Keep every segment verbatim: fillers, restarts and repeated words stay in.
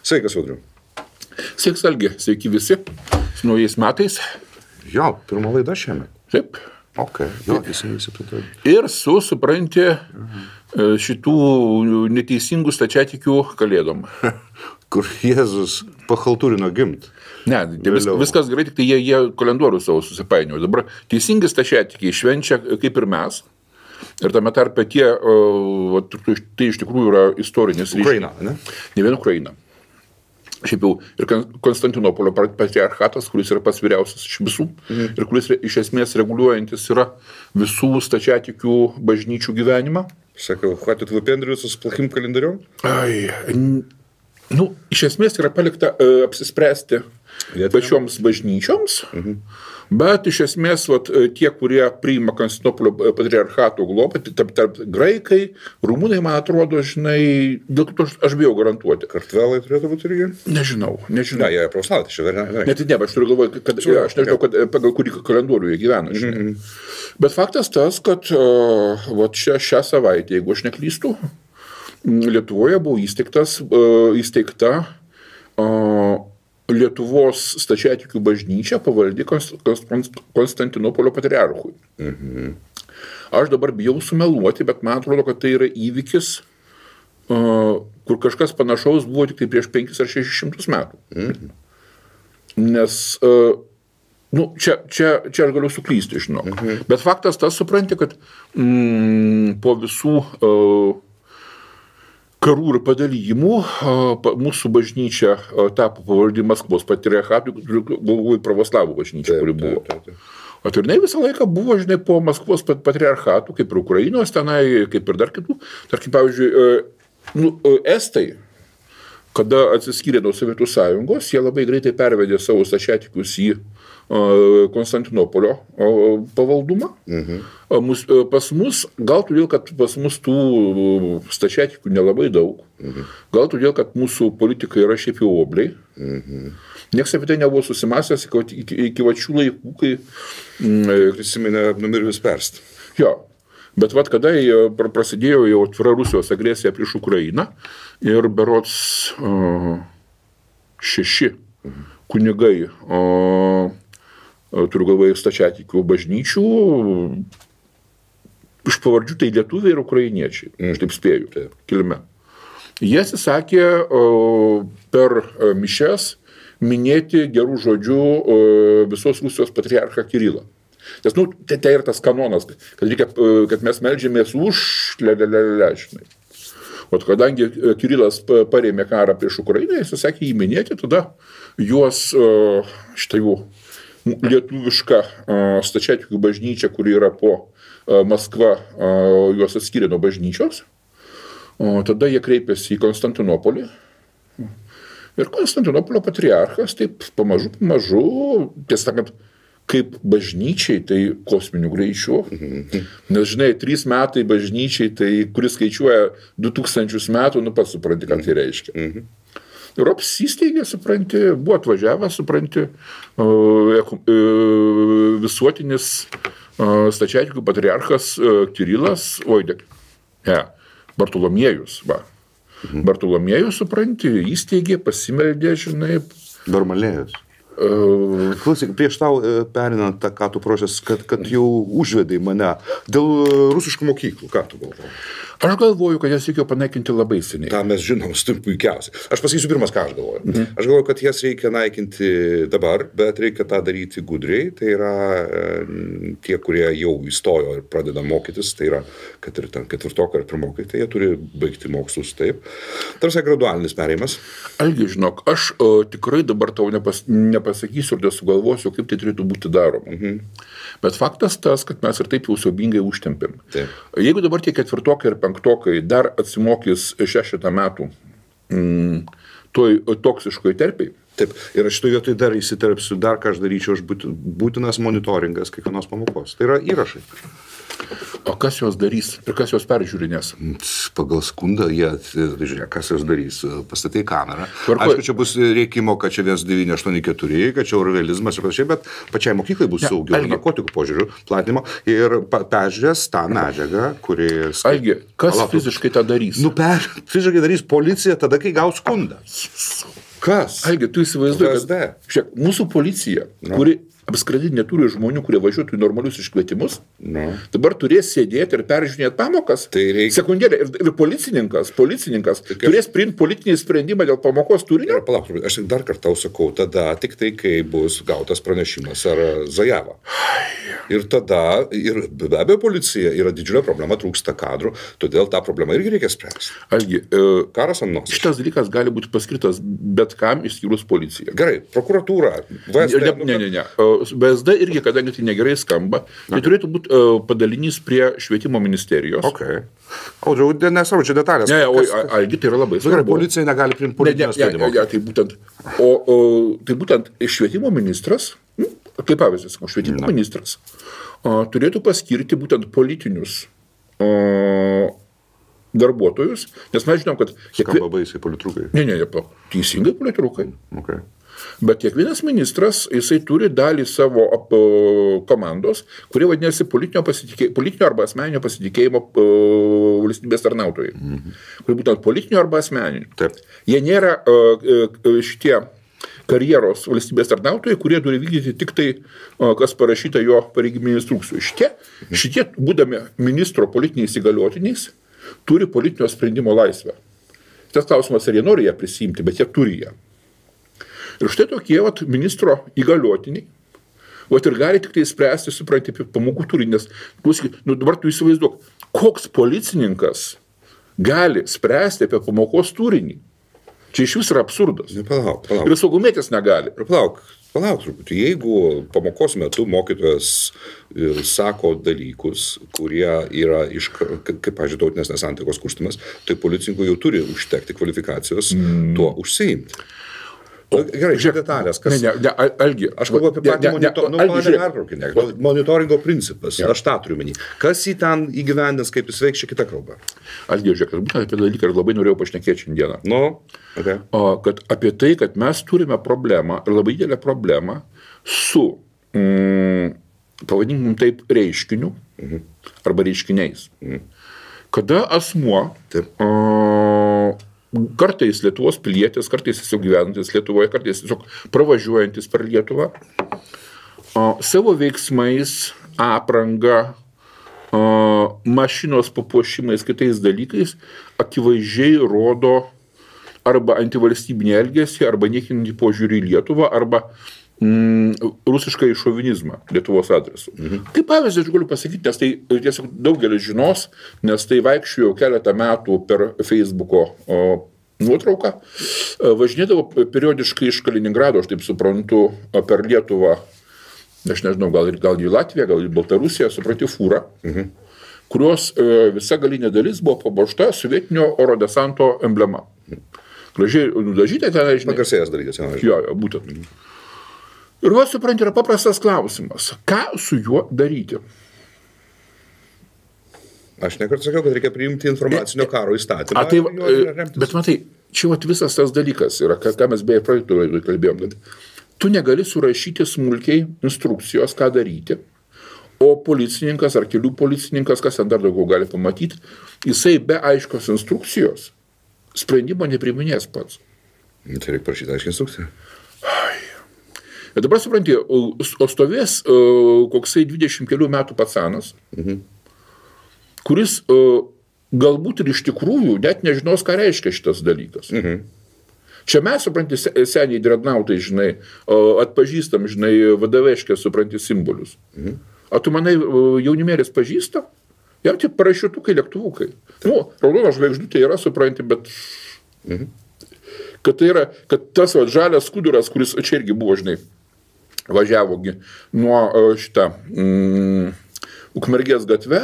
Sveikas, Audriau. Sveiks, Algi. Sveiki visi. Su naujais metais. Jo, pirma laida šiemet. Taip. Ok, jo, visi visi pritari. Ir su, supranti, šitų neteisingų stačiatikių kalėdom. Kur Jėzus pachaltūrino gimt. Ne, vis, viskas gerai, tik tai jie, jie kalendorių savo susipainiojo. Dabar teisingi stačiatikiai švenčia kaip ir mes. Ir tame tarpe tie, o, tai iš tikrųjų yra istorinis ryšys. Ukraina, ne? Ne vien Ukraina. Šiaip jau ir Konstantinopolio patriarchatas, kuris yra pats vyriausias iš visų, mhm. ir kuris iš esmės reguliuojantis yra visų stačiatikių bažnyčių gyvenimą. Sakau, хватит выпендриваться с плохим календарем? Ai, nu, iš esmės yra palikta uh, apsispręsti Lietuviam. Pačioms bažnyčioms, mhm. bet iš esmės vat, tie, kurie priima Konstantinopolio patriarchato globą, tarp, tarp graikai, rumūnai, man atrodo, žinai, dėl to aš, aš bijau garantuoti. Kartvelai turėtų būti irgi? Nežinau, nežinau. Ne, jie pravoslavai, tai čia ver. Net ne, aš turiu galvoje, kad, ja, aš nežinau, kad pagal kurį kalendorių jie gyvena, žinai. Mhm. Bet faktas tas, kad uh, vat čia šią savaitę, jeigu aš neklystu, Lietuvoje buvo įsteigtas, uh, įsteigta uh, Lietuvos stačiatikių bažnyčia pavaldi Konstantinopolio patriarchui. Mhm. Aš dabar bijau sumeluoti, bet man atrodo, kad tai yra įvykis, uh, kur kažkas panašaus buvo tik tai prieš penkis ar šešis šimtus metų. Mhm. Nes, uh, nu, čia, čia, čia aš galiu suklysti, žinok. Mhm. Bet faktas tas, supranti, kad mm, po visų uh, karų ir padalijimų mūsų bažnyčia tapo pavaldi Maskvos patriarchatui, galvoju pravoslavų bažnyčia, kuri buvo. Taip, taip, taip. O tai jinai visą laiką buvo, žinai, po Maskvos patriarchatų, kaip ir Ukrainos tenai, kaip ir dar kitų. Tarkim, pavyzdžiui, nu, estai, kada atsiskyrė nuo Sovietų sąjungos, jie labai greitai pervedė savo stačiatikius į Konstantinopolio pavaldumą. Mhm. Mus, pas mus, gal todėl, kad pas mus tų stačiatikų nelabai daug, mhm. gal todėl, kad mūsų politikai yra šiaip jau obliai. Mhm. Niekas apie tai nebuvo susimąstęs iki, iki, iki vačių laikų, kai prisiminė numirvis perst. Jo, bet vat kada prasidėjo jau atvira Rusijos agresija prieš Ukrainą ir berods uh, šeši mhm. kunigai uh, turiu galvoje stačiatikių bažnyčių, iš pavardžių tai lietuviai ir ukrainiečiai, mm. aš taip spėju, taip, kilme. Jie atsisakė per mišias minėti gerų žodžių visos Rusijos patriarchą Kirilą. Nes, nu, tai, tai yra tas kanonas, kad, reikia, kad mes meldžiamės už lelelelelę, žinai. O kadangi Kirilas parėmė karą prieš Ukrainą, jis sakė jį minėti, tada juos štai jau lietuviška stačiatikių bažnyčia, kuri yra po Maskva, juos atskyrė nuo bažnyčios. O tada jie kreipėsi į Konstantinopolį. Ir Konstantinopolio patriarchas taip pamažu, pamažu, tiesą sakant, kaip bažnyčiai, tai kosminiu greičiu. Nes, žinai, trys metai bažnyčiai, tai kuris skaičiuoja du tūkstančius metų, nu pats supranti, ką tai reiškia. Ir apsisteigė, supranti, buvo atvažiavęs, supranti, visuotinis stačiatikių patriarchas Kirilas, oi, ne, Bartolomiejus, va. Mhm. Bartolomiejus, supranti, įsteigė, pasimeldė, žinai. Barmalėjus. Uh, Klausyk, prieš tau perinant tą, ką tu prošęs, kad, kad jau užvedai mane dėl rusiškų mokyklų, ką tu galvoji? Aš galvoju, kad jas reikėjo panaikinti labai seniai. Ta mes žinom, stum puikiausiai. Aš pasakysiu pirmas, ką aš galvoju. Mhm. Aš galvoju, kad jas reikia naikinti dabar, bet reikia tą daryti gudriai. Tai yra e, tie, kurie jau įstojo ir pradeda mokytis, tai yra, kad ir ten ketvirtokai ar pirmokai, tai jie turi baigti mokslus taip. Tarsi gradualinis perėjimas. Algi, žinok, aš o, tikrai dabar tau nepas, nepasakysiu ir nesugalvosiu, kaip tai turėtų būti daroma. Mhm. Bet faktas tas, kad mes ir taip jau siaubingai užtempėm. Taip. Jeigu dabar tie ketvirtokai ir penktokai dar atsimokys šešetą metų mm, toj toksiškoj terpiai. Taip, ir aš šitoj vietoj dar įsiterpsiu, dar ką aš daryčiau, aš būtinas monitoringas kiekvienos pamokos. Tai yra įrašai. O kas jos darys ir kas jos peržiūrinės? Pagal skundą, jie, žiūrėk, kas jos darys, pastatai kamerą. Tvarko... Aišku, čia bus reikimo, kad čia vienas devyni aštuoni keturi, kad čia orvelizmas ir panašiai, bet pačiai mokyklai bus saugiau narkotikų požiūrių platinimo ir peržiūrės tą medžiagą, kuri... Algi, kas Alatų. Fiziškai tą darys? Nu, per, fiziškai darys policija tada, kai gaus skundą. Kas? Algi, tu įsivaizduoji, kad šiek, mūsų policija, no. kuri apskritai neturi žmonių, kurie važiuotų į normalius iškvietimus, no. dabar turės sėdėti ir peržiūrinėti pamokas. Tai reikia... Sekundėlė, ir, ir policininkas, policininkas tai turės priimti politinį sprendimą dėl pamokos turinio. Palauk, aš dar kartą sakau, tada tik tai, kai bus gautas pranešimas ar Zajava. Ir tada, ir be abejo, policija yra didžiulė problema, trūksta kadrų, todėl tą problemą irgi reikia spręsti. Algi, e, karas ant nosies. Šitas dalykas gali būti paskirtas bet kam išskyrus policiją. Gerai, prokuratūra, V S D. Ne, ne, ne, ne. V S D irgi, kadangi tai negerai skamba, tai turėtų būti uh, padalinys prie švietimo ministerijos. Okay. Audžiau, nesvarbu, čia detalės. Ne, o, Algi, tai yra labai svarbu. Gerai, policija negali priimti politinio sprendimo. Ne, ne, ne, tai būtent, o, o, tai būtent švietimo ministras, nu, kaip pavyzdys, švietimo Na. ministras, o, turėtų paskirti būtent politinius o, darbuotojus, nes mes žinom, kad... Skamba baisiai politrukai. Ne, ne, ne, teisingai politrukai. Okay. Bet kiekvienas ministras, jisai turi dalį savo ap, komandos, kurie vadinasi politinio, politinio arba asmeninio pasitikėjimo uh, valstybės tarnautojai. Mhm. Kurie būtent politinio arba asmeninio. Taip. Jie nėra uh, uh, šitie karjeros valstybės tarnautojai, kurie turi vykdyti tik tai, uh, kas parašyta jo pareigybinių instrukcijų. Šitie, mhm. šitie, būdami ministro politiniais įgaliotiniais, turi politinio sprendimo laisvę. Tas klausimas, ar jie nori ją prisimti, bet jie turi ją. Ir štai tokie vat, ministro įgaliotiniai, vat, ir gali tik tai spręsti, supranti, apie pamokų turinį, nes nu, dabar tu įsivaizduok, koks policininkas gali spręsti apie pamokos turinį. Čia iš vis yra absurdas. Ne, palauk, palauk. Ir saugumėtis negali. Ir palauk, palauk truputį. Jeigu pamokos metu mokytojas sako dalykus, kurie yra iš, kaip, pavyzdžiui, tautinės nesantaikos kurstymas, tai policininkų jau turi užtekti kvalifikacijos mm. tuo užsiimti. O, gerai, žiūrėk detalės, kas... Ne, ne, ne, Algi. Aš kalbu apie patį monito... nu, Algi, monitoringo principas, ja. Aš tą turiu menį. Kas jį ten įgyvendins, kaip jis veiks, čia kita kalba. Algi, žiūrėk, būtent apie dalyką ir labai norėjau pašnekėti šiandieną. Nu, okay. O, kad apie tai, kad mes turime problemą, ir labai didelę problemą su, mm, pavadinkim taip, reiškiniu, mhm. arba reiškiniais. Mhm. Kada asmuo... Taip. O, kartais Lietuvos pilietis, kartais tiesiog gyvenantis Lietuvoje, kartais tiesiog pravažiuojantis per Lietuvą, o, savo veiksmais, apranga, o, mašinos papuošimais, kitais dalykais, akivaizdžiai rodo arba antivalstybinį elgesį, arba niekinantį požiūrį į Lietuvą, arba mm, rusišką šovinizmą Lietuvos adresu. Mhm. Kaip pavyzdį aš galiu pasakyti, nes tai tiesiog daugelis žinos, nes tai vaikščiojo keletą metų per Facebooko o, nuotrauką, važinėdavo periodiškai iš Kaliningrado, aš taip suprantu, per Lietuvą, aš nežinau, gal, gal į Latviją, gal į Baltarusiją, supranti, fūrą, mhm. kurios e, visa galinė dalis buvo papuošta sovietinio oro desanto emblema. Gražiai nudažyta ten, žinai. Pagarsėjęs dalykas, jau. Jo, jo, būtent. Mhm. Ir va, supranti, yra paprastas klausimas. Ką su juo daryti? Aš nekart sakiau, kad reikia priimti informacinio karo įstatymą. A, tai, bet matai, čia vat visas tas dalykas yra, ką, ką mes beje praeitoj kalbėjom, kad tu negali surašyti smulkiai instrukcijos, ką daryti, o policininkas ar kelių policininkas, kas ten dar daugiau gali pamatyti, jisai be aiškios instrukcijos sprendimo nepriminės pats. Tai reikia prašyti aiškiai instrukciją. Ir dabar supranti, o stovės uh, koksai dvidešimt kelių metų pacanas, mhm. kuris uh, galbūt ir iš tikrųjų net nežinos, ką reiškia šitas dalykas. Mhm. Čia mes, supranti, seniai drednautai, žinai, uh, atpažįstam, žinai, vadoveškės, supranti, simbolius. Mhm. O tu manai, uh, jaunimėlis pažįsta? Jau tie parašiutukai, lėktuvukai. Nu, raudona žvaigždutė yra, supranti, bet... Mhm. Kad tai yra, kad tas va, žalias skuduras, kuris čia irgi buvo, žinai, važiavogi nuo šitą mm, Ukmergės gatve,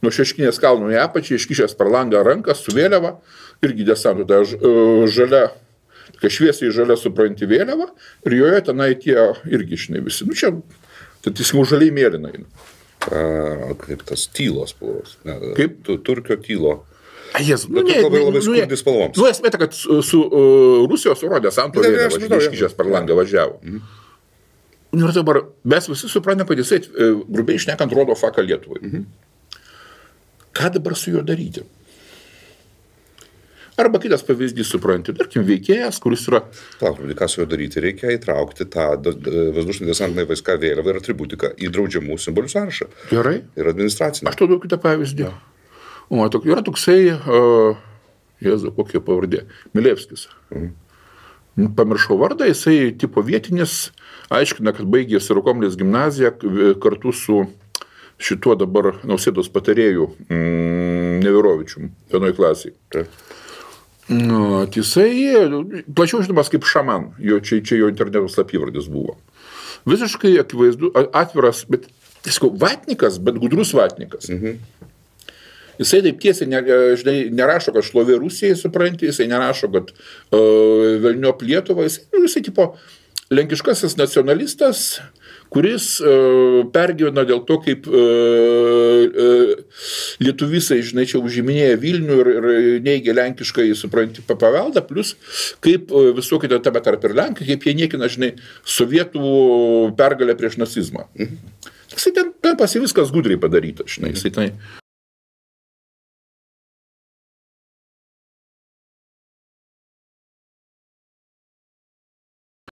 nuo Šeškinės kalno į apačią, iškišęs per langą ranką su vėliava, irgi desantų, tai žalia, tokia šviesiai žalia supranti vėliava, ir joje tenai tie irgi, žinai, visi, nu čia, tai tiesiog žaliai mėlynai. A, kaip tas tylos spalvos. Ne, Kaip? Tu, turkio tylo. A, Jėzus, Bet ne, labai labai nu, skurdi spalvoms. Nu, esmė, ta, kad su, su uh, Rusijos oro desanto Ne, ne, vėliava aš žinau, iškišęs per langą važiavo. Mhm. Nu, ir dabar mes visi suprantame, kad jisai, e, grubiai šnekant, rodo faką Lietuvai. Mhm. Ką dabar su juo daryti? Arba kitas pavyzdys, supranti, tarkim, veikėjas, kuris yra... Palauk, ką su juo daryti? Reikia įtraukti tą Vazdušinį desantinį vaiska vėliavą ir atributiką į draudžiamų simbolių sąrašą. Gerai. Ir administracinę. Aš tau duodu kitą pavyzdį. O, tok, yra toksai, uh, Jėzu, kokia pavardė, Milevskis. Mhm. Pamiršau vardą, jisai tipo vietinis, aiškina, kad baigė Sirokomlės gimnaziją kartu su šituo dabar Nausėdos patarėjų mm, Neverovičium vienoj klasiai. Taip. Nu, jisai, plačiau žinomas kaip šaman, jo, čia, čia jo interneto slapyvardis buvo. Visiškai akivaizdu, atviras, bet, tiesiog, vatnikas, bet gudrus vatnikas. Mhm. Jisai taip tiesiai ne, žinai, nerašo, kad šlovė Rusijai, supranti, jisai nerašo, kad uh, velniop Lietuvą, jisai, jisai tipo lenkiškasis nacionalistas, kuris uh, pergyvena dėl to, kaip uh, uh, lietuvisai, žinai, čia užiminėja Vilnių ir, ir neigia lenkiškai, supranti, paveldą, plus kaip uh, visokį tame tarp ir Lenkai, kaip jie niekina, žinai, sovietų pergalę prieš nacizmą. Mhm. Jisai ten, ten pasi viskas gudriai padaryta, žinai, jisai ten